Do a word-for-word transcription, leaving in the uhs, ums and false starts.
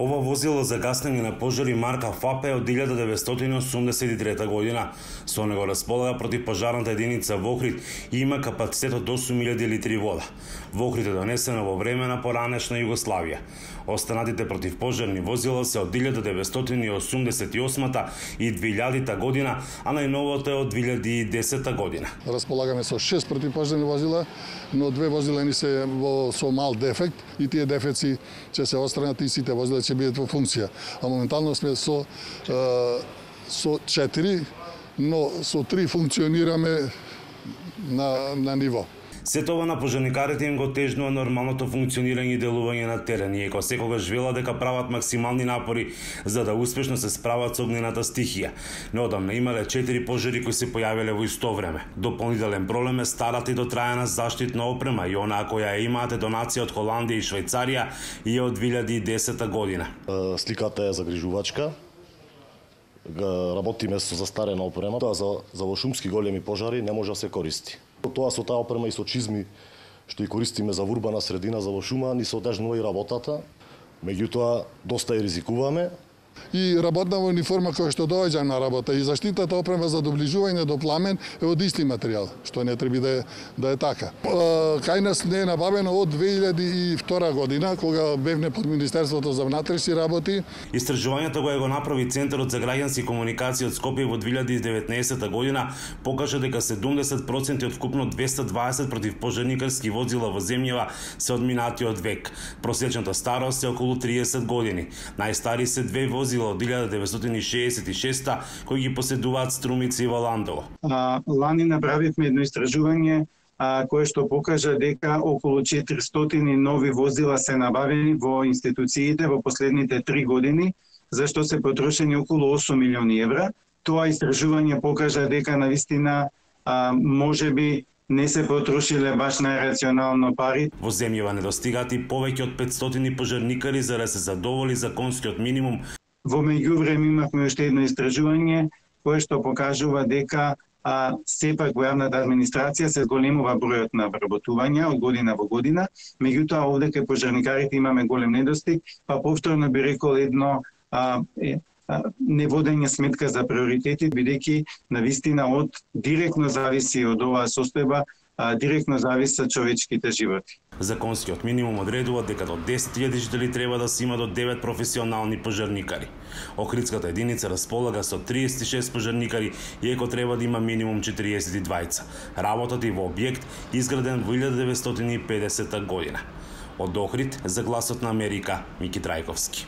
Ова возило за гаснење на пожари марка ФАП е од илјада деветстотини осумдесет и трета година. Со него располага противпожарната единица во Охрид и има капацитет од осум илјади литри вода. Во Охрид е донесено во време на поранешна Југославија. Останатите противпожарни возила се од илјада деветстотини осумдесет и осма и двилјадита година, а најновото е од две илјади и десета година. Располагаме со шест противпожарни возила, но две возила ни се во со мал дефект и тие дефекти ќе се отстранат и сите возила ќе бидат во функција. А моментално сме со е, со четири, но со три функционираме на на ниво. Сето ова на пожарникарите им го тежнува нормалното функционирање и делување на терен, иако секогаш велат дека прават максимални напори за да успешно се справат со огнената стихија. Неодамна имале четири пожари кои се појавиле во исто време. Дополнителен проблем е старата и дотрајана заштитна опрема и онаа која ја имаате донација од Холандија и Швајцарија и од две илјади и десета година. Сликата е загрижувачка. Работиме со застарена опрема, тоа за за во шумски големи пожари не може да се користи. Тоа со таа опрема и со чизми што и користиме за урбана средина, за во шума, ни се одежнува и работата. Меѓутоа доста и ризикуваме. И работна униформа која што доаѓа на работа и заштитата опрема за доближување до пламен е од исти материјал, што не треба да е, да е така. Кај нас не е набавено од две илјади и втора година, кога бевне под Министерството за внатрешни работи. Истражувањето кој го направи Центарот за граѓански комуникации од Скопје во две илјади и деветнаесета година покажа дека седумдесет проценти од вкупно двесте дваесет противпожарникарски возила во земјава се одминати од век. Просечната старост е околу триесет години. Најстари се две возила од илјада деветстотини шеесет и шеста кои ги поседуваат Струмица и Валандово. А, лани направивме едно истражување а, кое што покажа дека околу четиристотини нови возила се набавени во институциите во последните три години, за што се потрошени околу осум милиони евра. Тоа истражување покажа дека навистина а, можеби не се потрошиле баш најрационално пари. Во земјава недостигаат и повеќе од петстотини пожарникари за да се задоволи законскиот минимум. Во меѓувреме имавме уште едно истражување кое што покажува дека а, сепак во јавната администрација се зголемува бројот на вработувања од година во година, меѓутоа овде кај пожарникарите имаме голем недостиг, па повторно би рекол едно а, е, а, неводење сметка за приоритети, бидејќи навистина од директно зависи од оваа состојба, а, директно зависат човечките животи. Законскиот минимум одредува дека до десет илјади жители треба да се има до девет професионални пожарникари. Охридската единица располага со триесет и шест пожарникари, иако треба да има минимум четириесет и двајца. Работата и во објект изграден во илјада деветстотини и педесета година. Од Охрид за Гласот на Америка, Мики Трајковски.